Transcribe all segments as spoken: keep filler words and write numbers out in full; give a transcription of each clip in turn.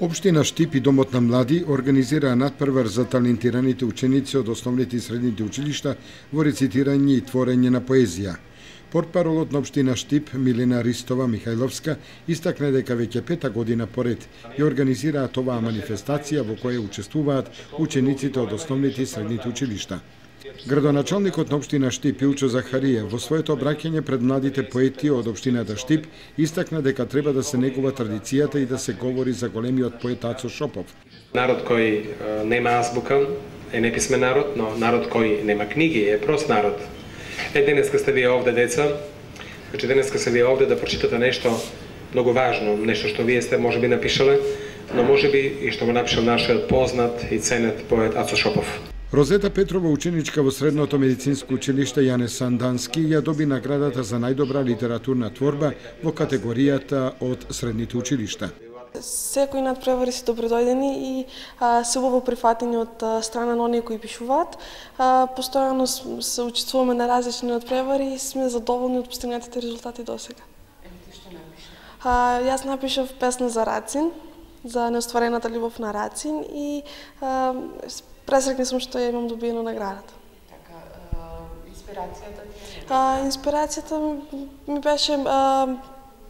Општина Штип и Домот на млади организираа надпревар за талентираните ученици од основните и средните училишта во рецитирање и творење на поезија. Портпаролот на општина Штип, Милена Ристова Михајловска, истакна дека веќе пета година поред ја организираат оваа манифестација во која учествуваат учениците од основните и средните училишта. Градоначалникот на општина Штип Илчо Захарија во своето обраќање пред младите поети од општината Штип истакна дека треба да се негува традицијата и да се говори за големиот поет Ацо Шопов. Народ кој нема азбука е неписмен народ, но народ кој нема книги е прост народ. Е, денеска сте вие овде, деца, значи денеска сте вие овде да прочитате нешто многу важно, нешто што вие сте можеби напишале, но можеби и што го напишал нашиот познат и ценет поет Ацо Шопов. Розета Петрова, ученичка во Средното медицинско училиште Јане Сандански, ја доби наградата за најдобра литературна творба во категоријата од средните училишта. Секои надпревари се добродојдени и а, се убаво прифатени од а, страна на оние кои пишуваат. А, постојано се учествуваме на различни надпревари и сме задоволни од постигнатите резултати досега. Ти што напиша? А, јас напишав песна за Рацин, за неостварената љубов на Рацин и а, пресрекна сум што ја имам добиено наградата. Така, а, инспирацијата ти е? А, инспирацијата ми, ми беше а,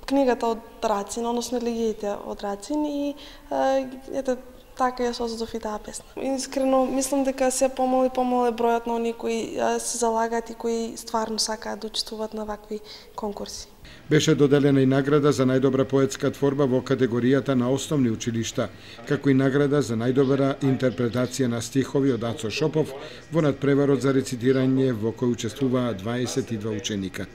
книгата од Рацин, односно елегиите од Рацин и а, ете така ја создадов и таа песна. Искрено мислам дека се помал и помал е бројот на оние кои а, се залагаат и кои стварно сакаат да учествуваат на вакви конкурси. Беше доделена и награда за најдобра поетска творба во категоријата на основни училишта, како и награда за најдобра интерпретација на стихови од Ацо Шопов во надпреварот за рецитирање во кој учествуваа дваесет и два ученика.